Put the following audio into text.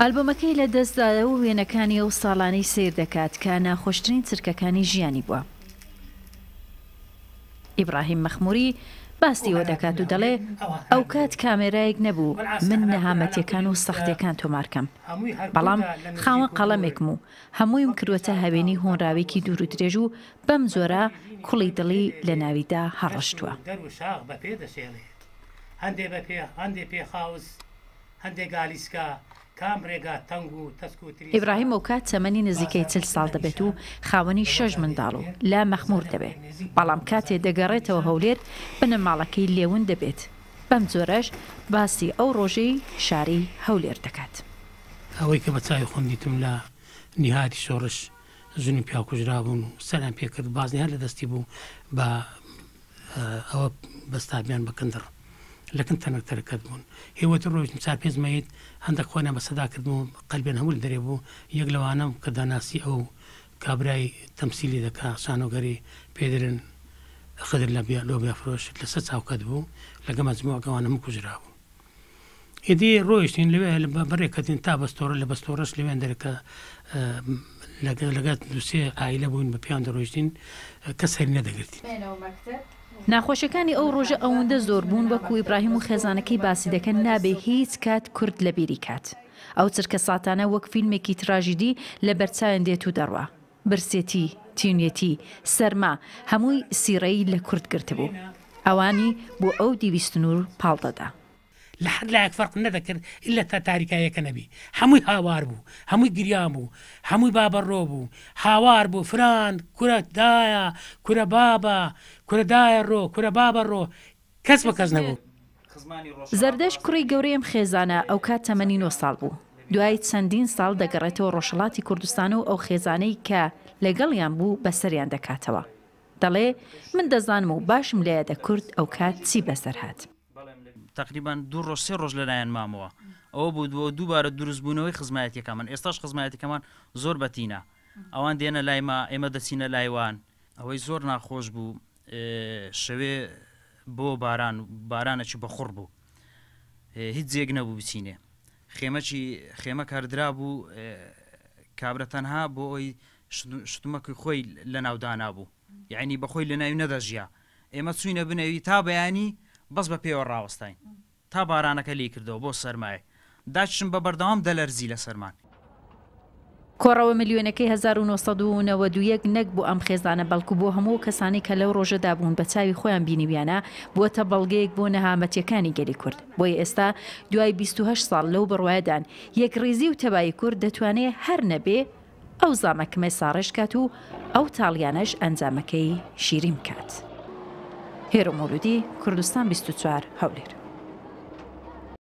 ئالبۆمەکەی لە دەستدایە و وێنەکانی ئەو ساڵانەی سەیر دەکات کە ناخۆشترین چرکەکانی ژیانی بووە. ئیبڕاهیم مەخموری باسی ئەوە دەکات و دەڵێ، ئەوکات کامێرایەک نەبوو من نەهامەتیەکان و سەختیەکان تۆمار کەم، بەڵام خاوەن قەڵەمێکم و هەموویم کردووەتە هەوێنی هۆنراوێکی دوور و درێژ و بەم جۆرە کوڵی دڵی لە ناویدا هەڵڕشتووە. ئیبراهیم ئەوکات تەمەنی نزیکەی 40 ساڵ دەبێت و خاوەنی شەش منداڵ و لە مەخموور دەبێ، بەڵام کاتێ دەگەڕێتەوە هەولێر بنەماڵەکەی لێ ون دەبێت، بەم جۆرەش باسی ئەو ڕۆژەی شاری هەولێر دەکات. ئەوەی کە بە چاوی خۆم دیتم لە نیهایەتی شۆڕش ژن و پیاو کوژرابوون و سەریان پێ کرد بازنەی هەر لە دەستی بوو بە ئەوە بەستابیان بە کندڕ لە کن تەنک تەرەکەت بوون هێوەتر ڕۆیشتم چار پێنج مەیت هەندەک خۆیان بە سەدا کردم و قەلبیان هەموو لە دەرێ بوو یەک لەوانەم کە دەناسی ئەو کابرای تەمسیلی دەکا شانۆگەری پێ دەرێن خدر لە لۆبیا فرۆش لەسەر چاوکەت بوو لەگە مەجموع گەوان هەموو کوژرابوون. ئیدی ڕۆیشتین لەوێ بەڕێ کەتین تا بەستۆڕە لە بەستۆڕەش لەوێن دەرکە لەگە دوسێ عایلە بووین بە پیان دەڕۆیشتین کەس هەری نەدەگرتین. ناخۆشیەکانی ئەو ڕۆژە ئەوەندە زۆر بوون وەکو ئیبراهیم و خێزانەکەی باسی دەکەن نابێ هیچ کات کورد لەبیری کات. ئەو چرکەساتانە وەک فیلمێکی تراژیدی لەبەرچاویان دێت و دەڕوا. برسێتی، تینوێتی، سەرما، هەمووی سیڕەی لە کورد گرتبوو. ئەوانی بۆ ئەو دیوی سنوور پاڵ دەدا. لە هەر لایەک فەرق نەدەکرد ئیلا تا تاریکاییەکە نەبی. هەمووی هاوار بوو، هەمووی گریان بوو، هەمووی بابەڕۆ بوو، هاوار بوو، فلان، کورە دایە، کورە بابە، کورە دایە ڕۆ، کورە بابە ڕۆ، کەس بە کەس نەبوو. زەردەشت کوڕی گەورەی ئەم خێزانە ئەوکات تەمەنی نۆ ساڵ بوو. دوای چەندین ساڵ دەگەڕێتەوە ڕۆژهەڵاتی کوردستان و ئەو خێزانەی کە لەگەڵیان بوو بەسەریان دەکاتەوە. دەڵێ، من دەزانم و باشم لەیادە کورد ئەوکات چی بەسەر هات. تەقریبەن دوو ڕۆژ سێ ڕۆژ لەلایان مامەوە. ئەوە بوو بۆ دووبارە دروستبوونەوەی خزمایەتیەکەمان. ئێستاش خزمایەتیەکەمان زۆر بەتینە. ئەوان دێنە لای مە، ئێمە دەچینە لای وان. ئەوەی زۆر ناخۆش بوو شەوێ بۆ باران بارانەکی بەخوڕ بوو هیچ جێک نەبوو بچینێ خێمەکی خێمە کاردرا بوو کابرا تەنها بۆ ئەوی شتومەکی خۆی لە ناودانا بوو یعنی بەخۆی لە ناوی نەدەژیا ئێمە چوینە بنەوی تا بەیانی بەس بە پێوە ڕاوەستاین تا بارانەکە لێی کردەوە بۆ سەرمایە داچشم بە بەردەوام دەلەرزی لە سەرمان. کۆڕەوە ملیۆنەکەی 1991 نەک بۆ ئەم خێزانە بەڵکو بۆ هەموو ئەو کەسانەی کە لەو ڕۆژەدا بوون بە چاوی خۆیان بینیویانە بووەتە بەڵگەیەک بۆ نەهامەتیەکانی گەلی کورد بۆیە ئێستا دوای 28 ساڵ لەو بڕوایەدان یەکڕیزی و تەبایی کورد دەتوانێ هەر نەبێ ئەو زامە کمێ ساڕێژ کات و ئەو تاڵیانەش ئەنجامەکەی شیرین بکات. هێرۆ مەولودی، کوردستان 24، هەولێر.